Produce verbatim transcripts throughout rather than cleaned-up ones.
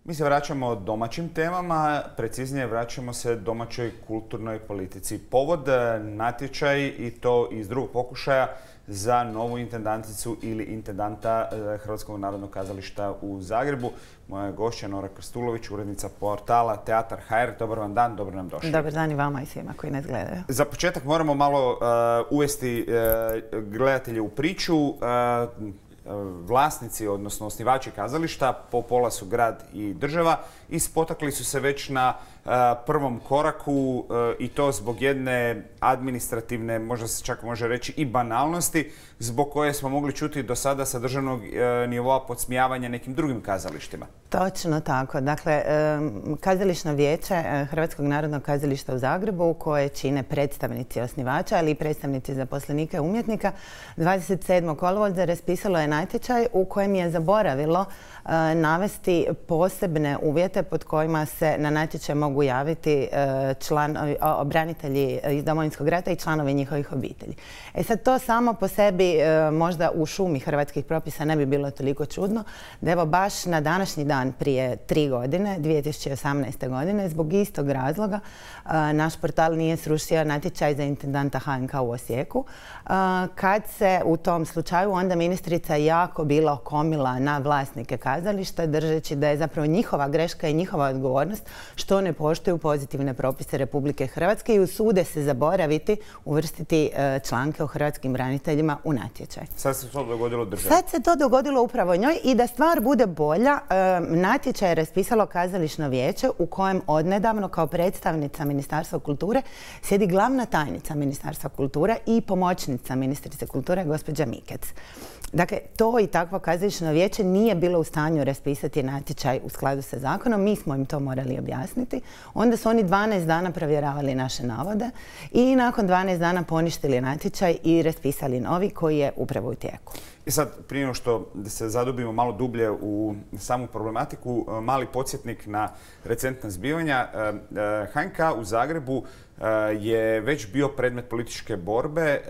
Mi se vraćamo domaćim temama, preciznije vraćamo se domaćoj kulturnoj politici. Povod natječaj i to iz drugog pokušaja za novu intendanticu ili intendanta Hrvatskog narodnog kazališta u Zagrebu. Moja gošća Nora Krstulović, urednica portala Teatar punkt hr. Dobar vam dan, dobro nam došli. Dobar dan i vama i svima koji nas gledaju. Za početak moramo malo uh, uvesti uh, gledatelje u priču. Uh, Vlasnici, odnosno osnivači kazališta, po pola su grad i država, i spotakli su se već na uh, prvom koraku uh, i to zbog jedne administrativne, možda se čak može reći i banalnosti, zbog koje smo mogli čuti do sada sa državnog uh, nivoa podsmijavanja nekim drugim kazalištima. Točno tako. Dakle, um, kazališno vijeće uh, Hrvatskog narodnog kazališta u Zagrebu, koje čine predstavnici osnivača, ali i predstavnici zaposlenika i umjetnika, dvadeset sedmog kolovoza raspisalo je natječaj u kojem je zaboravilo uh, navesti posebne uvjete pod kojima se na natječaj mogu javiti uh, članovi, branitelji iz Domovinskog rata i članovi njihovih obitelji. E sad, to samo po sebi uh, možda u šumi hrvatskih propisa ne bi bilo toliko čudno, da evo baš na današnji dan prije tri godine, dvije tisuće osamnaeste. godine, zbog istog razloga uh, naš portal nije srušio natječaj za intendanta H N K u Osijeku, uh, kad se u tom slučaju onda ministrica jako bila okomila na vlasnike kazališta, držeći da je zapravo njihova greška i njihova odgovornost što ne poštuju pozitivne propise Republike Hrvatske i usude se zaboraviti uvrstiti uh, članke o hrvatskim braniteljima u natječaj. Sad se to dogodilo državi? Sad se to dogodilo upravo njoj, i da stvar bude bolja, uh, natječaj je raspisalo kazališno vijeće u kojem odnedavno kao predstavnica Ministarstva kulture sjedi glavna tajnica Ministarstva kulture i pomoćnica ministrice kulture, gospođa Mikec. Dakle, to i takvo kazališno vijeće nije bilo u stanju raspisati natječaj u skladu sa zakonom. Mi smo im to morali objasniti. Onda su oni dvanaest dana provjeravali naše navode i nakon dvanaest dana poništili natječaj i raspisali novi koji je upravo u tijeku. I sad, prije nego što se zadubimo malo dublje u samu problematiku, mali podsjetnik na recentna zbivanja. H N K u Zagrebu je već bio predmet političke borbe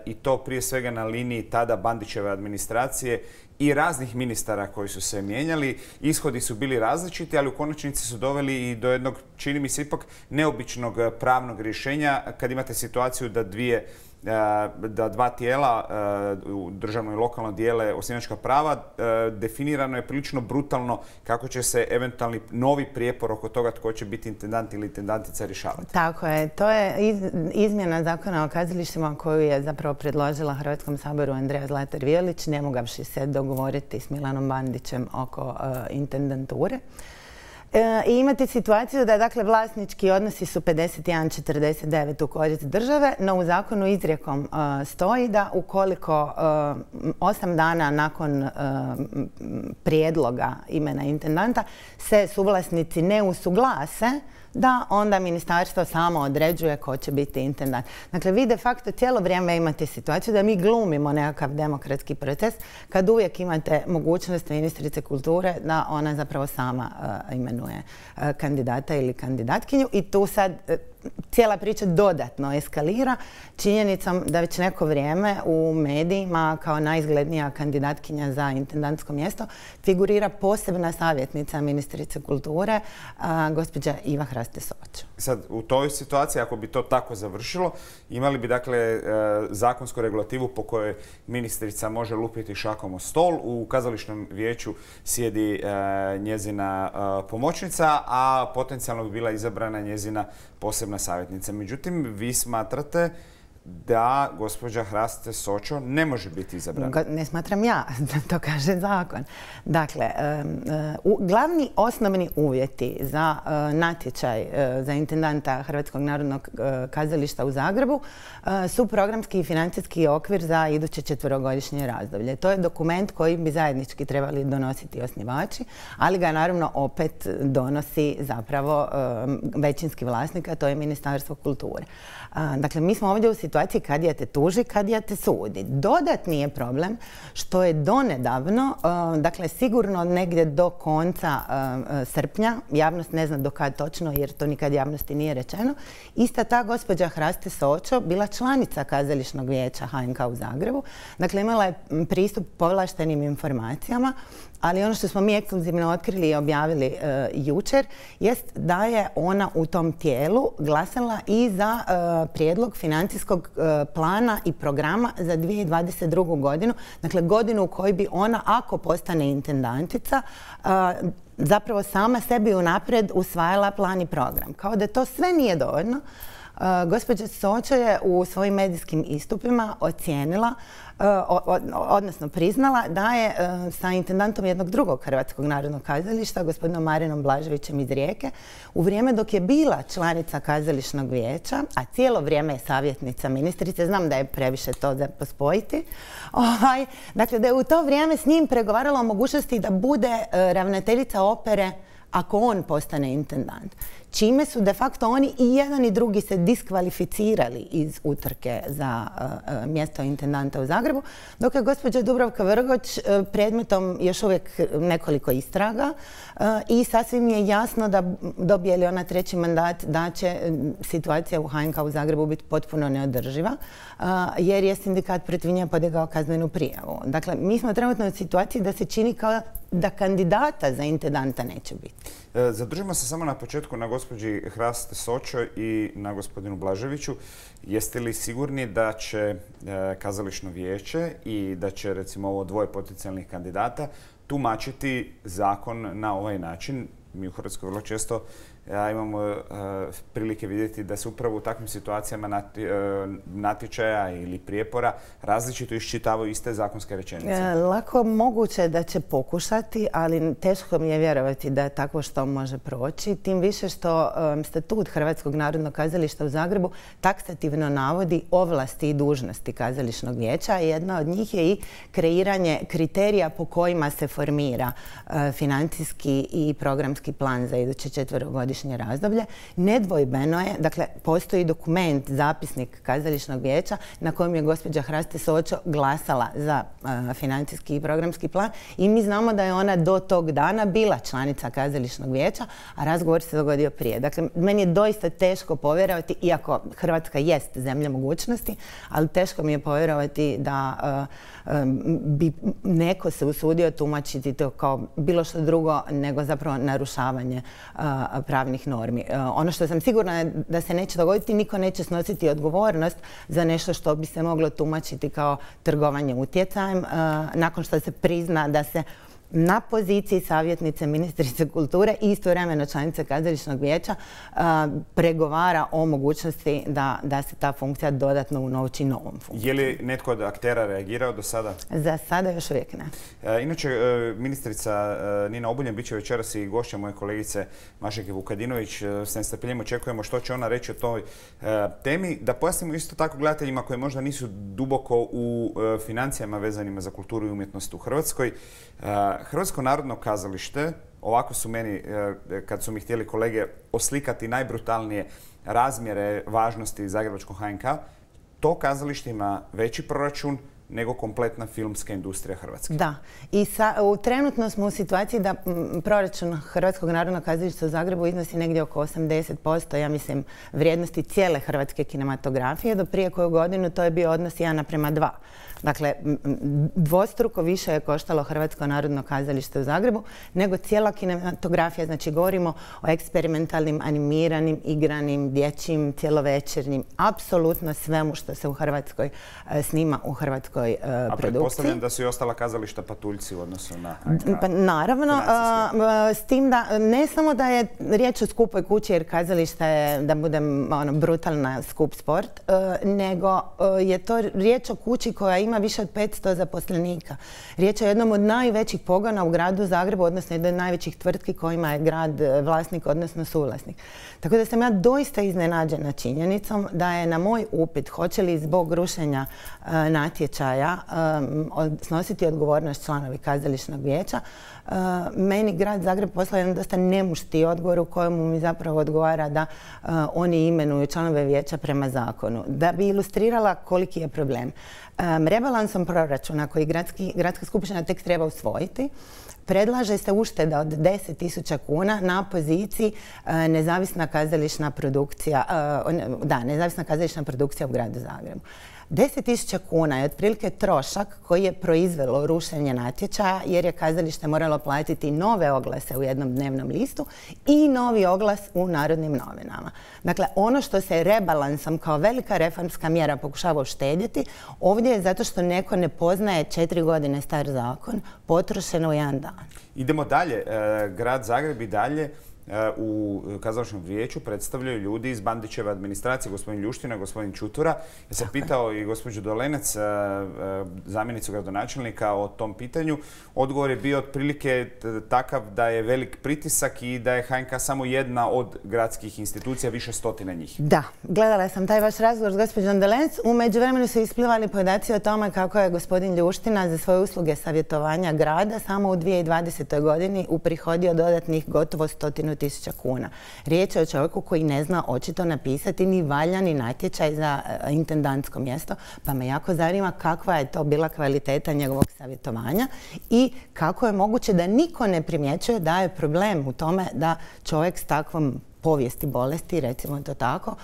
i to prije svega na liniji tada Bandićeve administracije i raznih ministara koji su se mijenjali. Ishodi su bili različiti, ali u konačnici su doveli i do jednog, čini mi se ipak, neobičnog pravnog rješenja kad imate situaciju da dvije da dva tijela, državno i lokalno, dijele osnivačka prava. Definirano je prilično brutalno kako će se eventualni novi prijepor oko toga tko će biti intendant ili intendantica rješavati. Tako je. To je izmjena zakona o kazalištima koju je zapravo predložila Hrvatskom saboru Andreja Zlatar Violić, ne mogavši se dogovoriti s Milanom Bandićem oko intendanture. E, I imate situaciju da, dakle, vlasnički odnosi su pedeset jedan četrdeset devet u korist države, no u zakonu izrijekom uh, stoji da ukoliko uh, osam dana nakon uh, prijedloga imena intendanta se suvlasnici ne usuglase, da onda ministarstvo samo određuje ko će biti intendant. Dakle, vi de facto cijelo vrijeme imate situaciju da mi glumimo nekakav demokratski proces kad uvijek imate mogućnost ministrice kulture da ona zapravo sama uh, imenuje uh, kandidata ili kandidatkinju, i tu sad uh, cijela priča dodatno eskalira činjenicom da već neko vrijeme u medijima kao najizglednija kandidatkinja za intendantsko mjesto figurira posebna savjetnica ministrice kulture, a, gospođa Iva Hraste Sočo. Sad, u toj situaciji, ako bi to tako završilo, imali bi, dakle, zakonsku regulativu po kojoj ministrica može lupiti šakom o stol. U kazališnom vijeću sjedi njezina pomoćnica, a potencijalno bi bila izabrana njezina posebna savjetnica. Međutim, vi smatrate da gospođa Hraste Sočo ne može biti izabrana. Ne smatram ja, to kaže zakon. Dakle, glavni osnovni uvjeti za natječaj za intendanta Hrvatskog narodnog kazališta u Zagrebu su programski i financijski okvir za iduće četverogodišnje razdoblje. To je dokument koji bi zajednički trebali donositi osnivači, ali ga naravno opet donosi zapravo većinski vlasnik, a to je Ministarstvo kulture. Dakle, mi smo ovdje u situaciji kadija te tuži, kadija te sudi. Dodatni je problem što je donedavno, dakle sigurno negdje do konca srpnja, javnost ne zna do kad točno jer to nikad javnosti nije rečeno, ista ta gospođa Hraste Sočo bila članica kazališnog vijeća H N K u Zagrebu. Dakle, imala je pristup povlaštenim informacijama ali ono što smo mi ekskluzivno otkrili i objavili e, jučer jest da je ona u tom tijelu glasala i za e, prijedlog financijskog e, plana i programa za dvije tisuće dvadeset drugu. godinu, dakle godinu u kojoj bi ona, ako postane intendantica, e, zapravo sama sebi unaprijed usvajala plan i program. Kao da to sve nije dovoljno, Uh, gospođa Sočo je u svojim medijskim istupima ocijenila, uh, od, odnosno priznala da je uh, sa intendantom jednog drugog Hrvatskog narodnog kazališta, gospodinom Marinom Blaževićem iz Rijeke, u vrijeme dok je bila članica kazališnog vijeća, a cijelo vrijeme je savjetnica ministrice, znam da je previše to za pospojiti, ovaj, dakle da je u to vrijeme s njim pregovarala o mogućnosti da bude uh, ravnateljica opere ako on postane intendant. Čime su de facto oni i jedan i drugi se diskvalificirali iz utrke za uh, mjesto intendanta u Zagrebu, dok je gospođa Dubravka Vrgoč uh, predmetom još uvijek nekoliko istraga uh, i sasvim je jasno da dobije li ona treći mandat da će situacija u H N K u Zagrebu biti potpuno neodrživa, uh, jer je sindikat protiv nje podigao kaznenu prijavu. Dakle, mi smo trenutno u situaciji da se čini kao da kandidata za intendanta neće biti. Zadržimo se samo na početku na gospođi Hraste Sočo i na gospodinu Blaževiću. Jeste li sigurni da će kazališno vijeće i da će recimo ovo dvoje potencijalnih kandidata tumačiti zakon na ovaj način? Mi u Hrvatskoj vrlo često ja, imamo uh, prilike vidjeti da se upravo u takvim situacijama nati, uh, natječaja ili prijepora različito iščitavaju iste zakonske rečenice. E, lako moguće da će pokušati, ali teško mi je vjerovati da tako što može proći. Tim više što um, statut Hrvatskog narodnog kazališta u Zagrebu taksativno navodi ovlasti i dužnosti kazališnog vijeća. Jedna od njih je i kreiranje kriterija po kojima se formira uh, financijski i programski plan za iduće četverogodišnje razdoblje. Nedvojbeno je, dakle, postoji dokument, zapisnik kazališnog vijeća na kojem je gospođa Hraste Sočo glasala za uh, financijski i programski plan i mi znamo da je ona do tog dana bila članica kazališnog vijeća, a razgovor se dogodio prije. Dakle, meni je doista teško povjerovati, iako Hrvatska jest zemlja mogućnosti, ali teško mi je povjerovati da uh, um, bi neko se usudio tumačiti to kao bilo što drugo nego zapravo narušavanje uh, pravnih normi. Uh, ono što sam sigurna je da se neće dogoditi, niko neće snositi odgovornost za nešto što bi se moglo tumačiti kao trgovanje utjecajem. Uh, nakon što se prizna da se na poziciji savjetnice ministrice kulture i istovremeno članice kazališnog vijeća uh, pregovara o mogućnosti da, da se ta funkcija dodatno unovči novom funkcijom. Je li netko od aktera reagirao do sada? Za sada još uvijek ne. E, inače, e, ministrica e, Nina Obuljen bit će večeras i gošća moje kolegice Mašeke Vukadinović. E, s nestrpljenjem očekujemo što će ona reći o toj e, temi. Da pojasnimo isto tako gledateljima koji možda nisu duboko u e, financijama vezanima za kulturu i umjetnost u Hrvatskoj. E, Hrvatsko narodno kazalište, ovako su meni, kad su mi htjeli kolege oslikati najbrutalnije razmjere važnosti zagrebačkog H N K, to kazalište ima veći proračun nego kompletna filmska industrija Hrvatske. Da. I sa, u, trenutno smo u situaciji da m, proračun Hrvatskog narodnog kazališta u Zagrebu iznosi negdje oko osamdeset posto, ja mislim, vrijednosti cijele hrvatske kinematografije. Do prije koju godinu to je bio odnos jedan naprema dva. Dakle, dvostruko više je koštalo Hrvatsko narodno kazalište u Zagrebu nego cijela kinematografija. Znači, govorimo o eksperimentalnim, animiranim, igranim, dječjim, cjelovečernjim, apsolutno svemu što se u Hrvatskoj e, snima u hrvatskoj e, produkciji. A pretpostavljam da su i ostala kazališta patuljci u odnosu na H N K. Pa, naravno, a, s tim da ne samo da je riječ o skupoj kući, jer kazališta je, da budem ono, brutalna, skup sport, a, nego a, je to riječ o kući koja ima više od petsto zaposlenika. Riječ je o jednom od najvećih pogona u gradu Zagrebu, odnosno jednoj od najvećih tvrtki kojima je grad vlasnik, odnosno suvlasnik. Tako da sam ja doista iznenađena činjenicom da je na moj upit hoće li zbog rušenja uh, natječaja um, snositi odgovornost članovi kazališnog vijeća, uh, meni grad Zagreb poslao jedan dosta nemušti odgovor u kojemu mi zapravo odgovara da uh, oni imenuju članove vijeća prema zakonu. Da bi ilustrirala koliki je problem. Um, rebalansom proračuna koji gradski, gradska skupština tek treba usvojiti, predlaže se ušteda od deset tisuća kuna na poziciji uh, nezavisna kazališna produkcija, uh, da, nezavisna kazališna produkcija u gradu Zagrebu. deset tisuća kuna je otprilike trošak koji je proizvelo rušenje natječaja jer je kazalište moralo platiti nove oglase u jednom dnevnom listu i novi oglas u Narodnim novinama. Dakle, ono što se rebalansom kao velika reformska mjera pokušava uštedjeti, ovdje je zato što neko ne poznaje četiri godine star zakon, potrošeno u jedan dan. Idemo dalje. Grad Zagreb i dalje u kazališnom vijeću predstavljaju ljudi iz Bandićeve administracije, gospodin Ljuština, gospodin Čutura. Ja sam pitao i gospođu Dolenec, zamjenicu gradonačelnika, o tom pitanju. Odgovor je bio otprilike takav da je velik pritisak i da je H N K samo jedna od gradskih institucija, više stotina njih. Da, gledala sam taj vaš razgovor s gospođom Dolenec. U međuvremenu su isplivali podaci o tome kako je gospodin Ljuština za svoje usluge savjetovanja grada samo u dvije tisuće dvadesetoj godini uprihodio dodatnih gotovo stotinu tisuća kuna. Riječ je o čovjeku koji ne zna očito napisati ni valjani natječaj za intendantsko mjesto, pa me jako zanima kakva je to bila kvaliteta njegovog savjetovanja i kako je moguće da niko ne primjećuje da je problem u tome da čovjek s takvom povijesti bolesti, recimo to tako,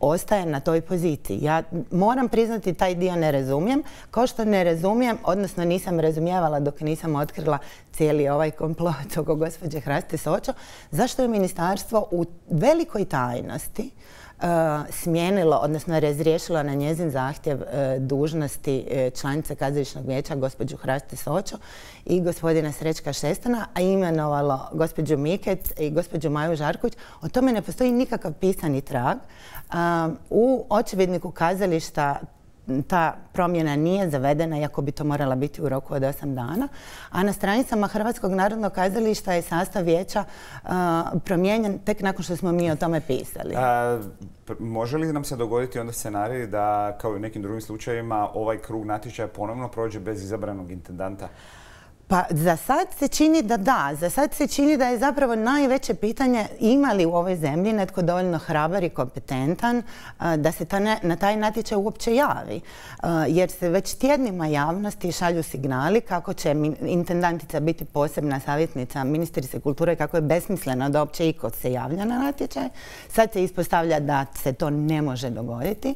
ostaje na toj poziciji. Ja moram priznati, taj dio ne razumijem, kao što ne razumijem, odnosno nisam razumijevala dok nisam otkrila cijeli ovaj komplot oko gospođe Hraste Sočo, zašto je ministarstvo u velikoj tajnosti Uh, smijenilo, odnosno razriješilo na njezin zahtjev uh, dužnosti uh, članice kazališnog vijeća gospođu Hraste Sočo i gospodina Srećka Šestana, a imenovalo gospođu Mikec i gospođu Maju Žarković. O tome ne postoji nikakav pisani trag. Uh, u očevidniku kazališta ta promjena nije zavedena, iako bi to morala biti u roku od osam dana. A na stranicama Hrvatskog narodnog kazališta je sastav vijeća uh, promijenjen tek nakon što smo mi o tome pisali. A, može li nam se dogoditi onda scenarij da, kao i u nekim drugim slučajevima, ovaj krug natječaja ponovno prođe bez izabranog intendanta? Pa za sad se čini da da. Za sad se čini da je zapravo najveće pitanje ima li u ovoj zemlji netko dovoljno hrabar i kompetentan da se ta ne, na taj natječaj uopće javi. Jer se već tjednima javnosti šalju signali kako će intendantica biti posebna savjetnica ministrice kulture, kako je besmisleno da uopće iko se javlja na natječaj. Sad se ispostavlja da se to ne može dogoditi.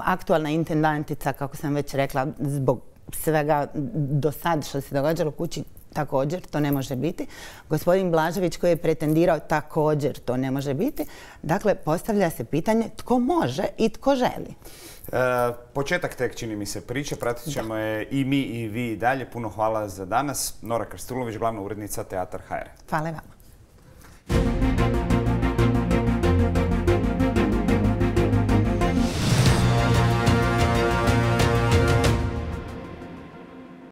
Aktualna intendantica, kako sam već rekla, zbog svega do sad što se događalo kući, također to ne može biti. Gospodin Blažević koji je pretendirao, također to ne može biti. Dakle, postavlja se pitanje tko može i tko želi. E, početak tek čini mi se priče, pratit ćemo je i mi i vi i dalje. Puno hvala za danas. Nora Krstulović, glavna urednica Teatar H R. Hvala vam.